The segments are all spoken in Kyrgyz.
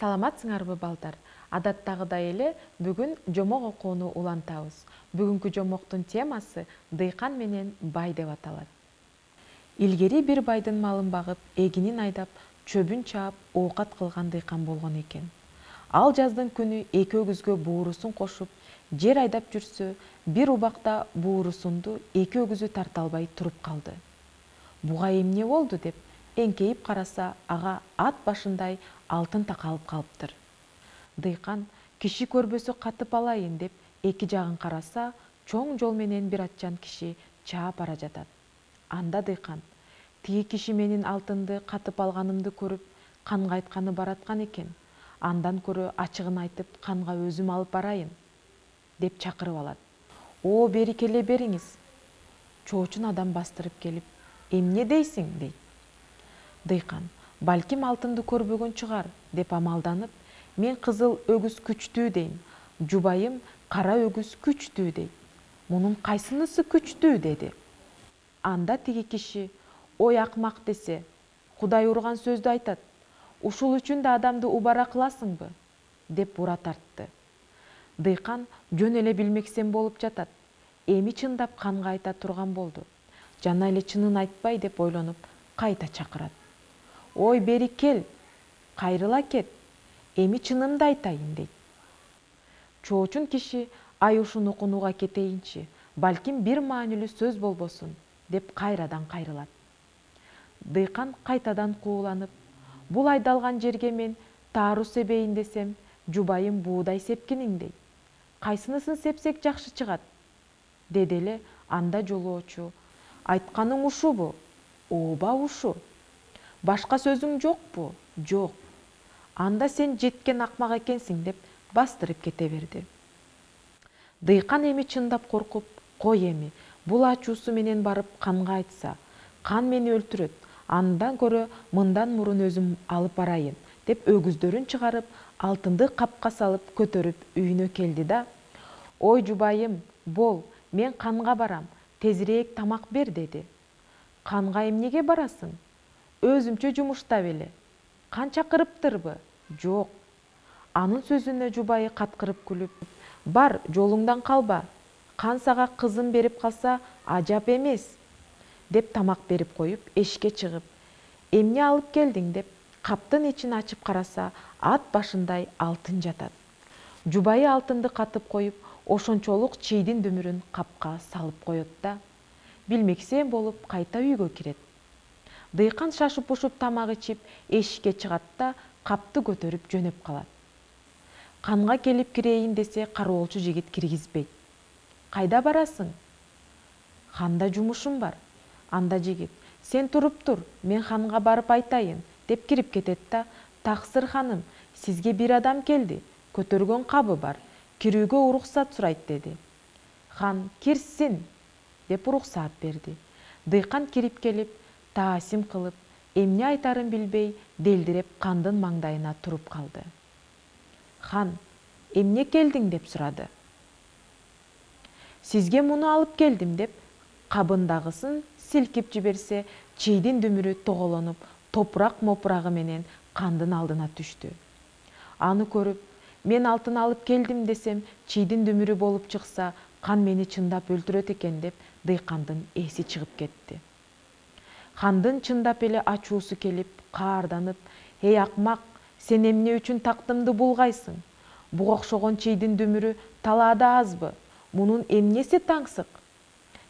Саламатсыңарбы балдар? Адаттагыдай эле бүгүн жомок окууну улантабыз. Бүгүнкү жомоктун темасы дыйкан менен бай деп аталат. Илгери бир байдын малын багып, эгинин айдап, чөбүн чаап, оокат кылган дыйкан болгон экен. Ал жаздын күнү эки өгүзгө буурусун кошуп, жер айдап жүрсө, бир убакта буурусунду эки өгүзү тарта албай туруп калды. Буга эмне болду деп эңкейип караса, ага ат башындай алтын такалып калыптыр. Дыйкан киши көрбөсө катып алайын деп эки жагын караса, чоң жол менен бир атчан киши чаап бара жатат. Анда дыйкан: тиги киши менин алтынды катып алганымды көрүп, канга айтканы бараткан экен. Андан көрө ачыгын айтып, канга өзүм алып барайын деп чакырып алат. О, бери келе бериңиз. Чоочун адам бастырып келип: эмне дейсиң дейт. Дыйкан: балким алтынды көрбөгөн чыгар деп амалданып: мен кызыл өгүз күчтүү дейм, жубайым кара өгүз күчтүү дейт. Мунун кайсынысы күчтүү деди. Анда тиги киши: ой акмак десе, Кудай урган сөздү айтат. Ушул үчүн да адамды убара кыласыңбы деп бура тартты. Дыйкан жөн эле билмексен болуп жатат. Эми чындап канга айта турган болду. Жана эле чынын айтпай деп ойлонуп, кайта чакырат. Ой, бери кел, кайрыла кет, эми чынымды айтайын дейт. Чоочун киши: ай ушуну кунууга кетейинчи, балким бир маанилүү сөз болбосун деп кайрадан кайрылат. Дыйкан кайтадан кууланып: бул айдалган жерге мен таару себейин десем, жубайым буудай сепкиниң дейт. Кайсынысын сепсек жакшы чыгат? Деди эле анда жолоочу: айтканың ушубу? Ооба, ушу. Башка сөзүң жокпу? Жок. Анда сен жеткен акмак экенсиң деп бастырып кете берди. Дыйкан эми чындап коркуп: кой эми, бул ачуусу менен барып канга айтса, кан мени өлтүрөт, андан көрө мындан мурун өзүм алып барайын деп өгүздөрүн чыгарып, алтынды капка салып көтөрүп үйүнө келди да: ой жубайым, бол, мен канга барам, тезирээк тамак бер деди. Канга эмнеге барасың? Өзүмчө жумуштап эле. Кан чакырыптырбы? Жок. Анын сөзүнө жубайы каткырып күлүп: бар, жолуңдан калба. Кан сага кызын берип калса ажап эмес деп тамак берип коюп, эшикке чыгып: эмне алып келдиң деп каптын ичин ачып караса, ат башындай алтын жатат. Жубайы алтынды катып коюп, ошончолук чийдин дүмүрүн капка салып коет да билмексен болуп кайта үйгө кирет. Дыйкан шашып ушуп тамак ичип эшикке чыгат да капты көтөрүп жөнөп калат. Канга келип кирейин десе, кароолчу жигит киргизбейт. Кайда барасың? Ханда жумушум бар. Анда жигит: сен туруп тур, мен ханга барып айтайын деп кирип кетет да: таксыр ханым, сизге бир адам келди, көтөргөн кабы бар, кирүүгө уруксат сурайт деди. Хан: кирсин деп уруксаат берди. Дыйкан кирип келип, таасим кылып, эмне айтарын билбей, делдиреп кандын маңдайына туруп калды. Хан: эмне келдиң деп сурады. Сизге муну алып келдим деп кабындагысын силкип жиберсе, чийдин дүмүрү тоголонуп, топурак мопурагы менен кандын алдына түштү. Аны көрүп, мен алтын алып келдим десем, чийдин дүмүрү болуп чыкса, кан мени чындап өлтүрөт экен деп дыйкандын эси чыгып кетти. Хандын чындап эле ачуусу келип, каарданып: эй акмак, сен эмне үчүн тактымды булгайсың? Буга окшогон чийдин дүмүрү талаада азбы? Мунун эмнеси таңсык?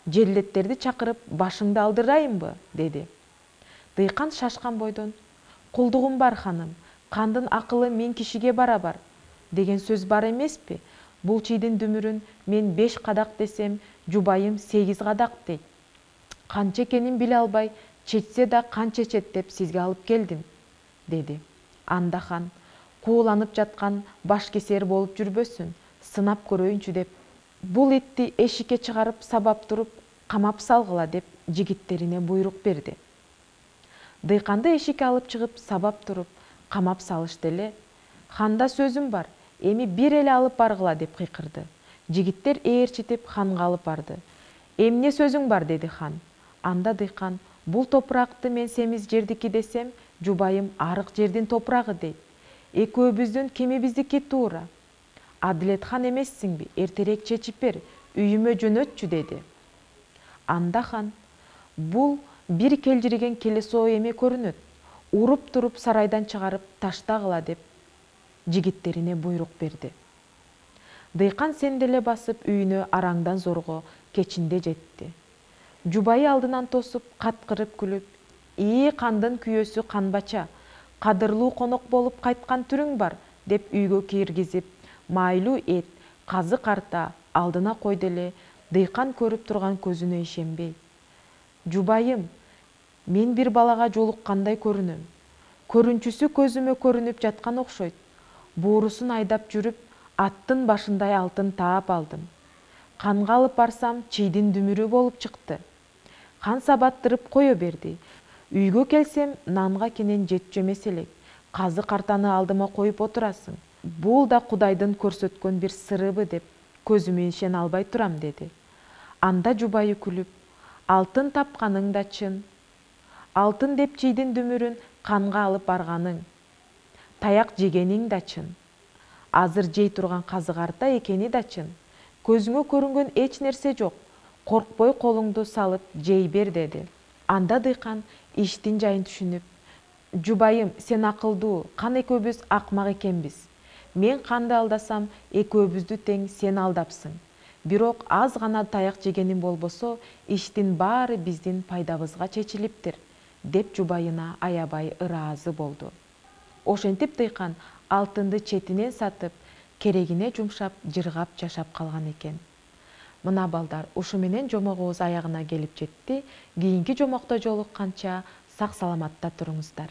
Жерлеттерди чакырып, башыңды алдырайынбы? Деди. Дыйкан шашкан бойдон: кулдугум бар ханым, кандын акылы мен кишиге барабар деген сөз бар эмеспи? Бул чийдин дүмүрүн мен 5 кадак десем, жубайым 8 кадак дейт. Канча экенин биле албай, чечсе да кан чечет деп сизге алып келдим, деди. Анда хан: кууланып жаткан баш кесер болуп жүрбөсүн, сынап көрөйүнчү деп бул итти эшикке чыгарып сабап туруп, камап салгыла деп жигиттерине буйрук берди. Дыйканды эшикке алып чыгып, сабап туруп, камап салышты эле. Ханда сөзүм бар, эми бир эле алып баргыла деп кыйкырды. Жигиттер ээрчитип ханга алып барды. Эмне сөзүң бар деди хан. Анда дыйкан: бул топуракты мен семиз жердики десем, жубайым арык жердин топурагы дейт. экөөбүздүн кемибиздики туура. Адилетхан эмессиңби, эртерээк чечип бер, үйүмө жөнөтчү деди. Анда хан: бул бир келжириген келесоо эме көрүнөт. Уруп туруп сарайдан чыгарып таштагыла деп жигиттерине буйрук берди. Дыйкан сенделе басып үйүнө араңдан зорго кечинде жетти. Жубайы алдынан тосуп, каткырып күлүп: кандын күйөөсү канбача, кадырлуу конок болуп кайткан түрүң бар деп үйгө киргизип, майлуу эт, казык арта алдына койду эле Дыйкан көрүп турган көзүнө ишенбей: жубайым, мен бир балага жолуккандай көрүнөм. Көрүнчүсү көзүмө көрүнүп жаткан окшойт. Буурусун айдап жүрүп, аттын башындай алтын таап алдым. Канга алып барсам, чийдин дүмүрү болуп чыкты. Хан сабаттырып кое берди. Үйгө келсем, нанга кенен жетчү эмес элек. Казык артаны алдыма коюп отурасың. Бул да Кудайдын көрсөткөн бир сырыбы деп көзүмө ишене албай турам деди. Анда жубайы күлүп: алтын тапканың да чын. Алтын деп чийдин дүмүрүн канга алып барганың, таяк жегениң да чын. Азыр жей турган казык арта экени да чын. Көзүңө көрүнгөн эч нерсе жок. Коркпой колуңду салып жей бер деди. Анда Дыйкан иштин жайын түшүнүп: жубайым, сен акылдуу, Кан экөөбүз акмак экенбиз. Мен Канды алдасам, экөөбүздү тең сен алдапсың. Бирок аз гана таяк жегеним болбосо, иштин баары биздин пайдабызга чечилиптир, деп жубайына аябай ыраазы болду. Ошентип Дыйкан алтынды четинен сатып, керегине жумшап, жыргап жашап калган экен. Мына балдар, ушу менен жомогубуз аягына келип жетти. Кийинки жомокто жолукканча сак саламатта туруңуздар.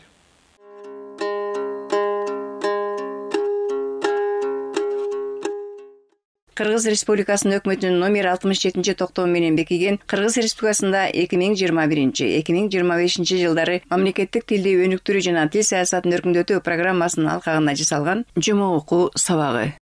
Кыргыз Республикасынын өкмөтүнүн номер 67 токтому менен бекиген Кыргыз Республикасында 2021-2025 жылдары мамлекеттик тилди өнүктүрүү жана тил саясатын өркүндөтүү программасынын алкагында жасалган жомок окуу сабагы.